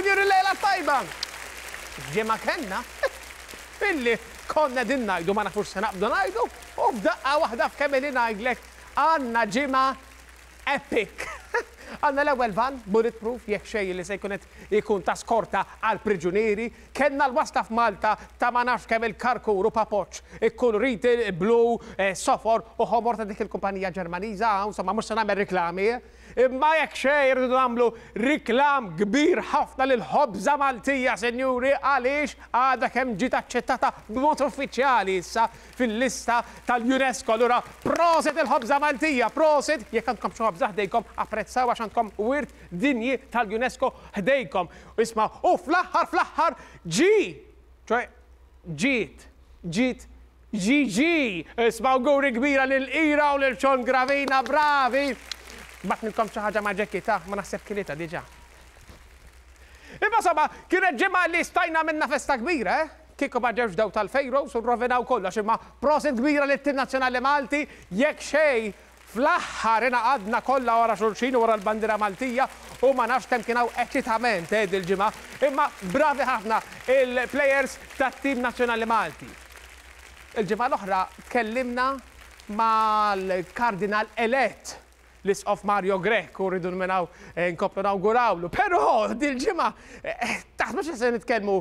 Sinjuri lejla tajba! Ġimgħa kellna illi konna din ngħidu ma nafux se naqbdu ngħidu u f'daqqa waħda f'kemm ili ngħidlek għandna ġimgħa epic. Għandna l-ewwel van bulletproof jekk xejn li se jkun qed ikun ta' skorta għal priġunieri. Kellna l-wasla f'Malta ta' ma nafx kemm il-karkur u papoċċ ikkuluriti blu, sofor u ħomor ta' dik il-kumpanija Ġermaniża, insomma mhux se nagħmel riklami. Imma jekk xejn irridu nagħmlu riklam kbir ħafna lill-ħobża Maltija, sinjuri, għaliex għadha kemm ġiet aċċettata b'mod uffiċjali issa fil-lista tal-UNESCO. Allura prosit il-ħobża Maltija, prosit, jekk għandkom xi ħobża ħdejkom apprezzaw għax għandkom wirt dinji tal-UNESCO ħdejkom. Isma' u fl-aħħar fl-aħħar ġie, ċoe ġiet, ġiet GG! Isma' awguri kbira lil Ira u lil Sean Gravina, bravi! Bgħatnilkom xi ħaġa ma' Jackie ta' ma naħseb kilitha diġà. Imma insomma, kienet ġimgħa li stajna għamilna festa kbira, eh? Kieku ma ġewx daw tal-Pharaohs u rrovinaw kollox, imma prosit kbira lit-tim nazzjonali Malti, jekk xejn, fl-aħħar ingħaqadna kollha wara xulxin u wara l-bandiera Maltija u ma nafx kemm kien hawn eċitament, eh, dil-ġimgħa. Imma bravi ħafna il-plejers tat-tim nazzjonali Malti. Il-ġimgħa l-oħra tkellimna mal-Kardinal elett, l-Isqof Mario Grech, u rridu minn hawn nkomplu nawgurawlu. Però dil-ġimgħa taħsbux li se nitkellmu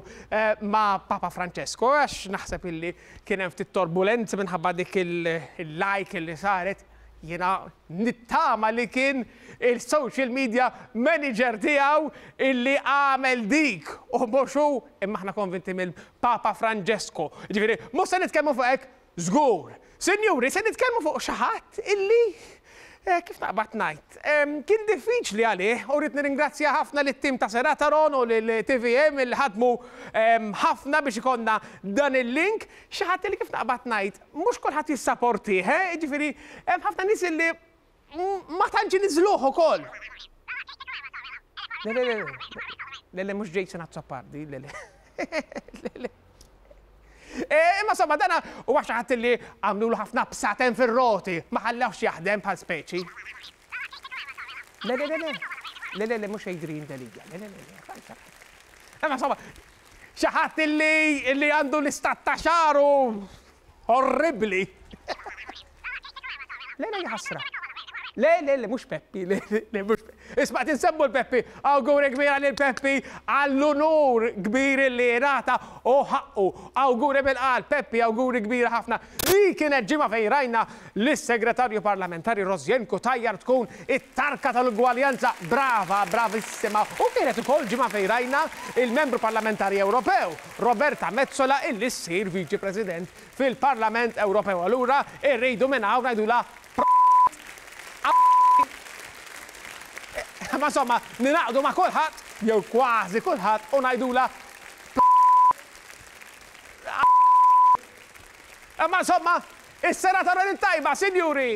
ma' Papa Francesco għax naħseb illi kien hemm ftit torbulenzi minħabba dik il-like li saret. Jiena nittama li kien il-social media manager tiegħu illi għamel dik u mhux hu, imma aħna konvinti mill-Papa Francesco. Jiġifieri mhux se nitkellmu fuq hekk żgur. Sinjuri, se nitkellmu fuq xi ħadd illi kif naqbad ngħid, kien diffiċli għalih u rrid nirringrazzja ħafna lit-tim ta' Serataron u lil TVM illi ħadmu ħafna biex ikollna dan il-link. Xi ħadd illi kif naqbad ngħid, mhux kulħadd jissaportih, eh, jiġifieri hemm ħafna nies illi ma tantx iniżżluh ukoll. Le, le, le, le, le, mhux Jason Azzopardi, le, le. Le, le. Imma somma dana huwa xi ħadd li għamlulu ħafna bsaten fir-roti, ma ħallewhx jaħdem bħal speċi. Le, le, le, le, le, le, le, mhux Adrian Delia, le, le, le, le. Imma somma, xi ħadd li għandu l-istat ta' xagħru orribbli. Le, le, ħasra. Le, le, le, mhux Peppi, le, le, mhux Peppi. Isma' qed insemmu l-Peppi, awguri kbira lil Peppi għall-unur kbir li ngħata u ħaqqu. Awguri mill-qalb, Peppi, awguri kbira ħafna. Li kienet ġimgħa fejn rajna lis-Segretarju Parlamentari Rosianne Cutajar tkun it-tarka tal-ugwaljanza. Brava, bravissima. U kienet ukoll ġimgħa fejn rajna il-Membru Parlamentari Ewropew, Roberta Metsola illi ssir Viċi President fil-Parlament Ewropew. Allura rridu minn hawn ngħidulha Ma insomma, ninaqdu ma' kulħadd, jew kważi kulħadd, u ngħidulha Imma insomma, is-sena ta' tajba, sinjuri!